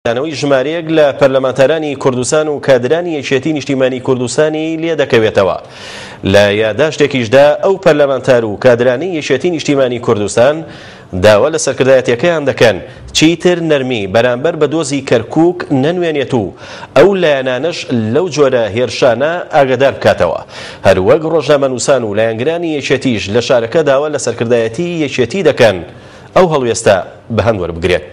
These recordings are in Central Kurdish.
دانەوەی ژمارەیەک لە پەرلەمانتارانی کوردستان و کادرانی یەکێتی نیشتیمانی کوردستانی لێدەکەوێتەوە. لە یاداشتێکیشدا ئەو پەرلەمانتار و کادرانەی یەکێتی نیشتیمانی کوردستان داوا لە سەرکردایەتیەکەیان دەکەن چیتر نەرمی بەرامبەر بە دۆزی کەرکوک نەنوێنێت و ئەو لایەنانەش لەو جۆرە هێرشانە ئاگادار بکاتەوە. هەروەک ڕۆژنامەنووسان و لایەنگرانی یەکێتیش لە شارەکە داوا لە سەرکردایەتی یەکێتی دەکەن ئەو هەڵوێستە بەهەند وەربگرێت.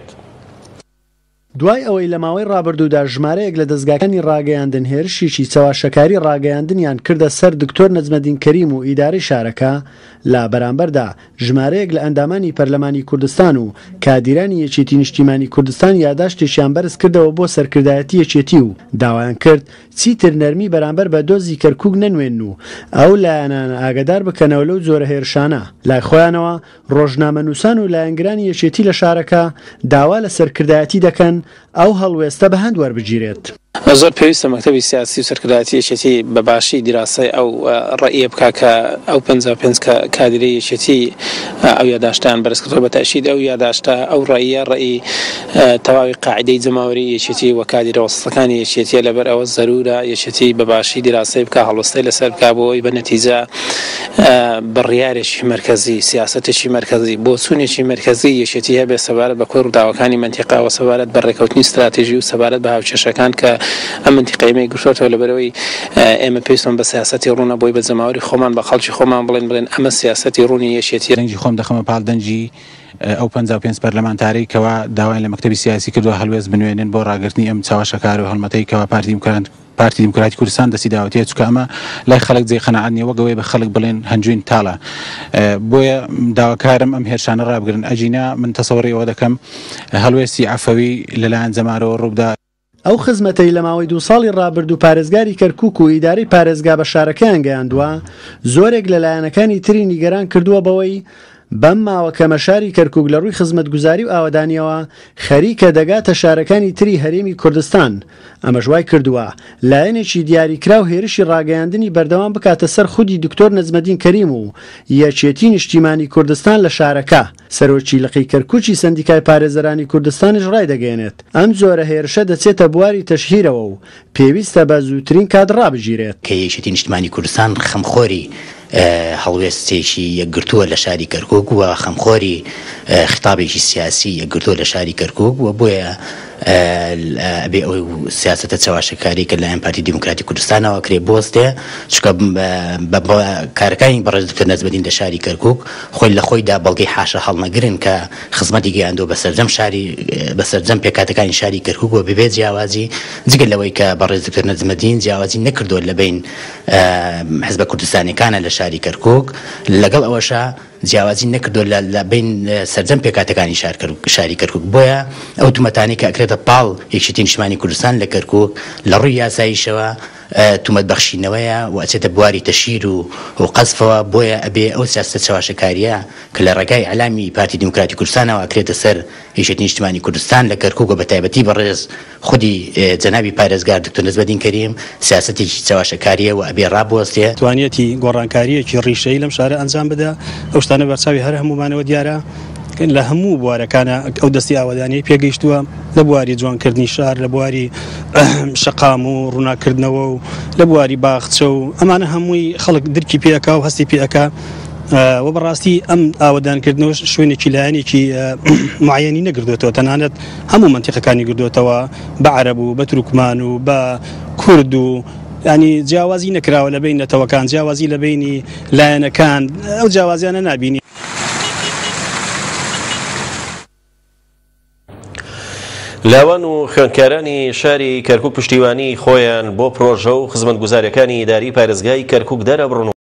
دوای ئەوەی لە ماوەی ڕابردوودا ژمارەیەک لە دەزگاکانی ڕاگەیاندن هێرشێکی چەواشەکاری ڕاگەیاندنیان کردە سەر دکتۆر نەجمەدین کەریم و ئیدارەی شارەکە، لە بەرامبەردا ژمارەیەک لە ئەندامانی پەرلەمانی کوردستان و کادیرانی یەکێتی نیشتیمانی کوردستان یاداشتێکیان بەرز کردەوە بۆ سەرکردایەتی یەکێتی و داوایان کرد چیتر نەرمی بەرامبەر بە دۆزی کەرکوک نەنوێنن و ئەو لایەنانە ئاگەدار بکەنەوە لەو جۆرە هێرشانە. لای خۆیانەوە ڕۆژنامەنووسان و لایەنگرانی یەکێتی لە شارەکە داوا لە سەرکردایەتی دەکەن ئەو هەڵوێستە بە هەند وەربگیرێت. زۆر پێویستە مەکتەبی سیاسی و سەرکردایەتی یەکێتی بە باشی دیراسەی ئەو ڕەئیە بکا کە ئەو 55 کادیرەی یەکێتی ئەو یاداشتەیان بەرز کردەوە بە تەئشید ئەو یاداشتە ئەو ڕەئیە ڕەئی تەواوی قاعیدەی جەماوەری یەکێتی و کادیرە وەسەتەکانی یەکێتیە لەبەر ئەوە زەرورە یەکێتی بە باشی دیراسەی بکا هەڵوەستەی لەسەر بکا بۆ ئەوەی بە نەتیجە بڕیارێکی مەرکەزی، سیاسەتێکی مەرکەزی، بۆچوونێکی مەرکەزی یەکێتی هەبێت سەبارەت بە کۆی ڕووداوەکانی مەنتیقە و سەبارەت بە ڕێکەوتنی ستراتیژی و سەبارەت بە هاوکێشەکان کە ئەم مەنتیقەی ئێمەی گرتۆتەوە لەبەرئەوەی ئێمە پێویستمان بە سیاسەتی ڕوونە بۆی بە جەماوەری خۆمان بە خەڵکی خۆمان بڵێین بڵێن ئەمە سیاسەتی ڕوونی یەکێتیە. دەنگی خۆم دەخەمە پاڵ دەنگی ئەو 55 پەرلەمانتارەی کەوا داوایان لە مەکتەبی سیاسی کردووە هەڵوێست بنوێنن بۆ ڕاگرتنی ئەم چەواشەکار و هەڵمەتەی کەوا پارتی دیموکرات پارتی دیموکراتی کوردستان دەستی داوەتێ چونکە ئەمە لای خەڵک جێی قەناعەت نیە وەک ئەوەی بە خەڵک بڵێن هەنجوین تاڵە بۆیە داواکارم ئەم هێرشانە ڕابگرن ئەگینا من تەسەوڕی ئەوە دەکەم هەڵوێستی عەفەوی لەلایەن جەمارەوە ڕووبدا. ئەو خزمەتەی لە ماوەی دوو ساڵی ڕابردوو پارێزگاری کەرکوک و ئیدارەی پارێزگا بە شارەکەیان گەیاندووە، زۆرێک لە لایەنەکانی تری نیگەران کردووە بەوەی بەم ماوە کەمە شاری کەرکوک لە ڕووی خزمەتگوزاری و ئاوەدانییەوە خەریکە دەگاتە شارەکانی تری هەرێمی کوردستان، ئەمەش وای کردووە لایەنێکی دیاریکراو هێرشی ڕاگەیاندنی بەردەوام بکاتە سەر خودی دکتۆر نەجمەدین کەریم و یەکێتی نیشتیمانی کوردستان لە شارەکە. سەرۆکی لقی کەرکوکی سەندیکای پارێزەرانی کوردستانیش ڕایدەگەیەنێت، ئەم جۆرە هێرشە دەچێتە بواری تەشهیرەوە و پێویستە بە زووترین کات ڕابگیرێت. کە یەکێتی نیشتمانی کوردستان خەمخۆری هەڵوێستێکی یەکگرتووە لە شاری کەرکوک و خەمخۆری خیتابێکی سیاسی یەکگرتووە لە شاری کەرکوک و بۆیە ئەبێ ئەو سیاسەتە چەواشەکاری کە لەلایەن پارتی دیموکراتی کوردستانەوە ئەکرێ بوەستێ چونکە بە کارەکانی بەڕێز دکتۆر نەجمەدین لە شاری کەرکوک خۆی لە خۆیدا بەڵگەی حاشا هەڵنەگرن کە خزمەتی گەیاندووە بە سەرجەم شاری بە سەرجەم پێکهاتەکانی شاری کەرکوک و بەبێ جیاوازی جگە لەوەی کە بەڕێز دکتۆر نەجمەدین جیاوازی نەکردووە لە بەین حزبە کوردستانیەکانە لە شاری کەرکوک لەگەڵ ئەوەشا جیاوازی نەکردووە لە لە بەین سەرجەم پێکهاتەکانی شار شاری کەرکوک بۆیە ئەو تومەتانەی کە ئەکرێتە پاڵ یەکێتی نیشتمانی کوردستان لە کەرکوک لە ڕووی یاساییشەوە تومەت بەخشینەوەیە و ئەچێتە بواری تەشهیر و و قەزفەوە بۆیە ئەبێ ئەو سیاسەتە چەواشەکاریە کە لە ڕێگای ئیعلامی پارتی دیموکراتی کوردستانەوە ئەکرێتە سەر یەکێتی نیشتمانی کوردستان لە کەرکوک و بەتایبەتی بەڕێز خودی جەنابی پارێزگار دکتۆر نەجمەدین کەریم سیاسەتێکی چەواشەکاریە و ئەبێ ڕابوەستێ. توانیەتی گۆڕانکارییەکی ڕیشەیی لەم شارە ئەنجام بدا، ئەو شتانە بەرچاوی هەر هەموومانەوە دیارە، لە هەموو بوارەکانا ئەو دەستی ئاوەدانیەی پێگەیشتووە، لە بواری جوانکردنی شار، لە بواری شەقام و ڕووناککردنەوە و لە بواری باخچە و ئەمانە هەمووی خەڵک درکی پێ ئەکا و هەستی پێ ئەکا و بەڕاستی ئەم ئاوەدانکردنەوەش شوێنێکی لایەنێکی معەیەنی نەگردووەتەوە تەنانەت هەموو مەنتیقەکانی گردووەتەوە بە عەرەب و بە تورکمان و بە کورد و ینی جیاوازی نەکراوە لە بین نەتەوەکان جیاوازی لە بینی لایەنەکان ئەو جیاوازیانە نابینی. لاوان و خوێندکارانی شاری کەرکوک پشتیوانی خۆیان بۆ پرۆژە و خزمەتگوزاریەکانی ئیداری پارێزگای کەرکوک دەرەبڕن و.